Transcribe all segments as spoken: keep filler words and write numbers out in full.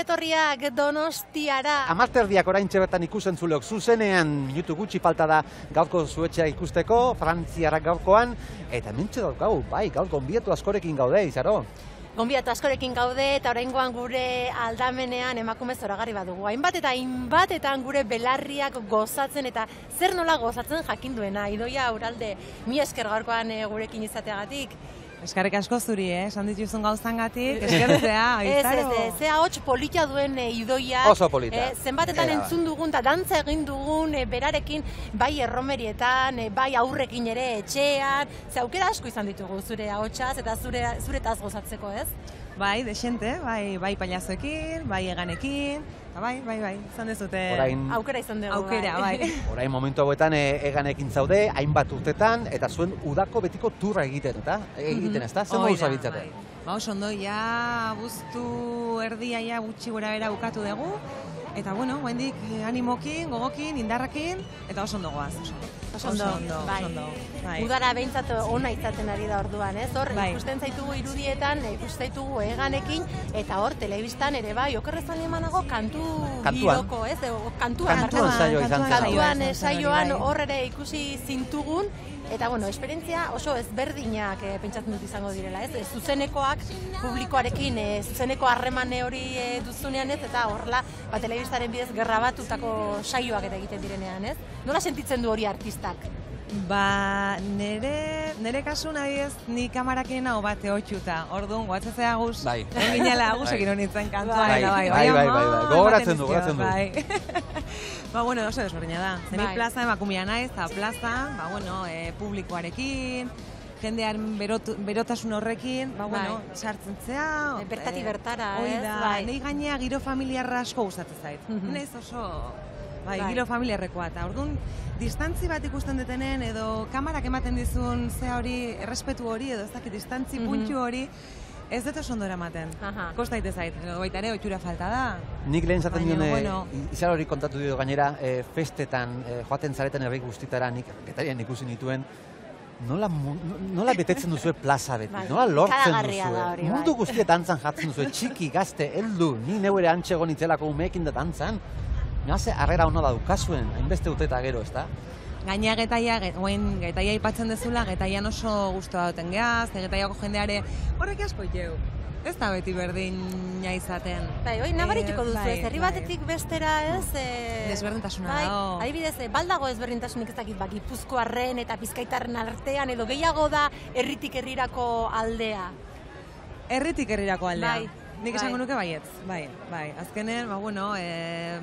etorriak Donostiara. Amarterdiak oraintxe bertan ikusentzuleok zuzenean minutu gutxi falta da gaurko zuetxea ikusteko, frantziarrak gaurkoan, eta mentxe daukagu, bai, gaur gonbidatu askorekin gaude, Izaro. Gonbidatu askorekin gaude eta oraingoan gure aldamenean emakume zoragarri badugu. Hainbat eta hainbatetan gure belarriak gozatzen eta zer nola gozatzen jakin duena. Idoia Uralde, mi esker gaurkoan gurekin izateagatik. Eskarrik asko zuri, eh? Esan dituzun gauzangatik, eskertzea, Izaro. Ez, ez, ze ahots polita duen Idoia. Oso polita. Eh, zenbatetan entzun dugun eta dantza egin dugun eh, berarekin, bai erromerietan, eh, bai aurrekin ere etxean, ze aukera asko izan ditugu zure ahotsaz eta zure zuretaz gozatzeko, ez? Bai, desente, bai, bai pailazoekin, bai eganekin, bai, bai, bai, izan dezute Orain, aukera izan dugu. aukera, bai. Orain momentu hauetan e, eganekin zaude, hainbat urtetan, eta zuen udako betiko turra egiten, eta egiten, ez da? Zer modu zabiltzate? Ba, oso ondo, ja, buztu erdia ja gutxi gora bera bukatu dugu, eta bueno, guendik animokin, gogokin, indarrakin, eta oso ondo goaz, oso ondo. Oso ondo, bai. Bai. Udara behintzat ona izaten ari da orduan, ez? Hor, Bai. ikusten zaitugu irudietan, ikusten zaitugu eganekin, eta hor, telebistan ere bai, okerrezan emanago kantu Kantuan. giroko, ez? O, kantuan, Kantuan barkatu. saioa izan zen. Kantuan Bai. saioan hor ere ikusi zintugun, eta bueno, esperientzia oso ezberdinak eh, pentsatzen dut izango direla, ez? E, zuzenekoak publikoarekin, e, zuzeneko harremane hori e, duzunean ez, eta horrela, ba, telebistaren bidez gerrabatutako saioak eta egiten direnean, ez? Nola sentitzen du hori artistak? Ba, nere, nere kasu nahi ez, ni kamarakin hau bate hotxuta. Orduan, guatzezea guz, Bai. onginela guzek nintzen kantuan. Bai, eta bai, bai, bai, bai, gogoratzen du, gogoratzen du. Bai. Ba, bueno, oso desberdina da. Zeni Bai. plaza emakumia naiz, eta plaza, ba, bueno, e, publikoarekin, jendearen berot, berotasun horrekin, ba, bueno, Bai. sartzen zea. E, bertati bertara, hori ez? da, Bai. nahi gainea giro familiarra asko gustatzen zait. Mhm. Naiz oso, bai, Bai. giro familiarrekoa, eta orduan, distantzi bat ikusten detenen, edo kamarak ematen dizun zea hori, errespetu hori, edo ez dakit, distantzi Mhm. puntu hori, ez dut oso ondo eramaten. Aha. Kosta ite zait, edo baita ere, ohitura falta da. Nik lehen zaten Baina, dione, bueno. Izar hori kontatu dio gainera, e, festetan, e, joaten zareten herri guztitara, nik getarian ikusi nituen, nola, mu- nola betetzen duzue plaza beti, Bai, nola lortzen ikaragarria duzue. da hori, bai. Mundu guztiet dantzan jartzen duzue, txiki, gazte, heldu, ni neu ere antxegon itzelako umeekin da dantzan. Naze, harrera hona daukazuen, hainbeste urte eta gero, ez da? Gaina getaia, get, oen getaia aipatzen dezula, getaian oso guztua duten geaz, getaiako jendeare, horrek asko jau. Ez da beti berdina izaten. Bai, hoi nabarituko Eh, duzu, bai, ez, herri bai. batetik bestera, ez? E, Desberdintasuna bai, dago. adibidez, e, baldago ezberdintasunik ez dakit, ba, Gipuzkoarren eta Bizkaitarren artean, edo gehiago da herritik herrirako aldea. Herritik herrirako aldea. Bai, Nik bai. esango nuke baietz, bai, bai. Azkenen, ba, bueno, e,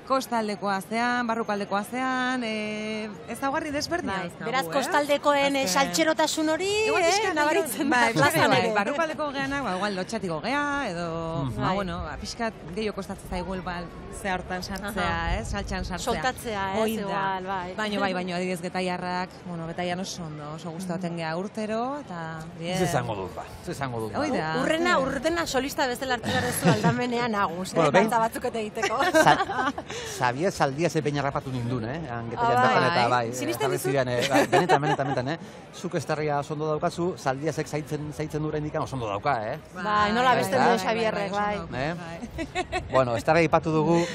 kostaldekoa zean, barrukaldekoa zean, e, ez daugarri desberdina Bai, dauzkagu, beraz, eh? kostaldekoen eh, Azken- saltxerotasun hori, Igual eh, pixkat nabaritzen da, bai, plazan bai, ere. barrukaldeko geanak, ba, igual lotxatiko gea, edo, Mhm. ba, Bai. bueno, ba, pixkat gehiago kostatzen zaigu ba, ze hartan sartzea, Aha. ez, saltxan sartzea. Soltatzea, ez, Hoi da. igual, bai. Baino, bai, baino, adibidez getaiarrak, bueno, getaian oso ondo, oso gustatzen gea urtero, eta... bien. Ez esango dut, ba, ez esango dut. ba. Hoi da. Urrena, urrena solista bezala hartu behar duzu aldamenean agus, Bueno, eh, behin- dantza batzuk eta egiteko. Sa- Xabier Zaldia ze behin harrapatu nindun, eh? Angetaian Ah, bertan bai. eta bai, Sinisten jarri dizu? ziren, eh? Bai, benetan, benetan, benetan, eh? Zuk estarria oso ondo daukazu, Zaldiazek zaitzen, zaitzen dure indikan oso ondo dauka, eh? Bai, nola beste besten duen du Xabierrek, oso bai. ondo, Eh? bai. Bueno, estarria ipatu dugu,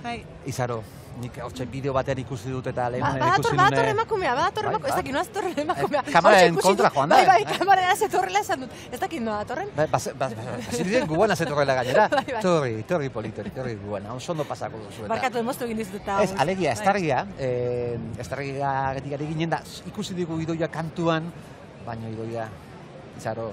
Bai. Izaro, nik hortxe bideo batean ikusi dut eta lehen Ba, ikusi badator, nune... badator emakumea, badator Bai, emakumea, ez bai. dakit, noaz torren emakumea. Eh, kameraren Hortxe ikusi kontra dut- joan da, Bai, bai, eh? kameraren zetorrela esan dut. Ez dakit noa datorren. Ba, bas, bas, bas, hasi diren gubuena zetorrela gainera. Bai, bai. Torri, torri polito, torri gubuena, oso ondo pasako duzu. eta- Barkatu emoztu egin dizut eta. Ez, alegia, estarria, eh, estarria getik ari ginen da, ikusi digu Idoia kantuan, baina Idoia, Izaro,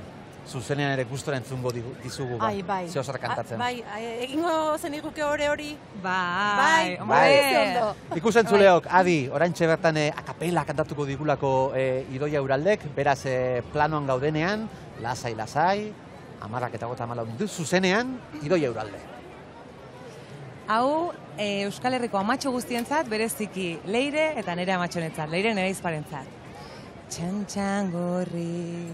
zuzenean ere gustora entzungo digu- dizugu, ba, Ai, bai. ze osar kantatzen. Ah, Bai, ai, egingo zen iguke hore hori. Bai, Bai, hombre. bai. Ze ondo. Ikusentzuleok, adi, oraintxe bertan eh, akapela kantatuko digulako eh, Idoia Uraldek, beraz eh, planoan gaudenean, lasai, lasai, amarrak eta gota amalau minutu, zuzenean, Idoia Uralde. Hau, e, Euskal Herriko amatxo guztientzat, bereziki Leire eta nire amatxonetzat, Leire nire izparentzat. Txantxan gorri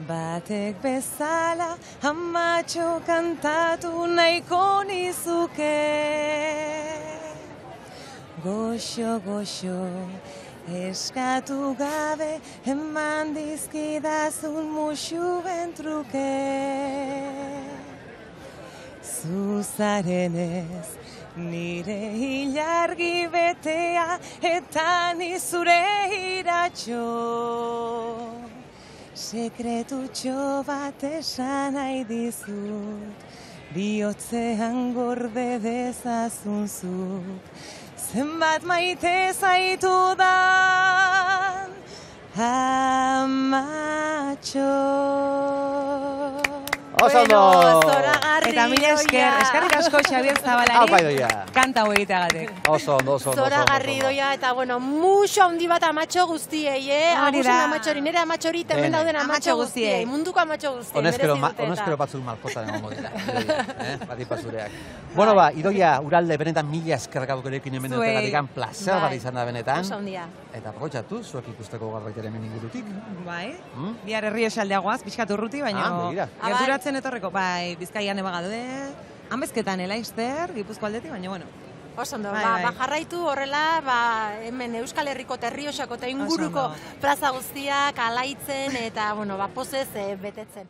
batek bezala amatxo kantatu nahiko nizuke. Goxo, goxo, eskatu gabe eman dizkidazun muxuen truke. zuzarenez, nire ilargi betea eta ni zure iratxo. Sekretutxo bat esan nahi dizut, bihotzean gorde dezazunzuk, zenbat maite zaitudan amatxo. Oso ondo! Zoragarri, Eta mila esker, eskerrik asko Xabier Aupa, Zabalari, Idoia. kanta hau egiteagatik. Oso ondo, oso ondo. Zoragarri doia, eta bueno, muxo handi bat amatxo guztiei, eh? Hori da. Agusen amatxori, nire amatxori, temen Bene. dauden Amatxo amatxo guztiei. guztiei, munduko amatxo guztiei, Honezkero, merezi dute honezkero eta. batzuk malkotan egongo dira. Idoia, eh? Batipa zureak. Bueno, ba, Idoia, Uralde, benetan mila eskerrak gurekin hemen Zuei. dutelatik, plazer bat Bai. izan da benetan. Oso handia. Eta aprobetxatu, zuek ikusteko garbaitere hemen ingurutik. Bai, Mm? bihar herri esaldeagoaz, pixkat urruti, baina Ah, begira. gerturatzen etorreko, bai, Bizkaian ebagaude, Hanbezketan Elaister, Gipuzko aldetik, baina bueno. Oso ondo, Bai, ba, bai. ba jarraitu horrela, ba, hemen Euskal Herriko Terriosako eta inguruko ondo. plaza guztiak alaitzen eta, bueno, ba, pozez eh, betetzen.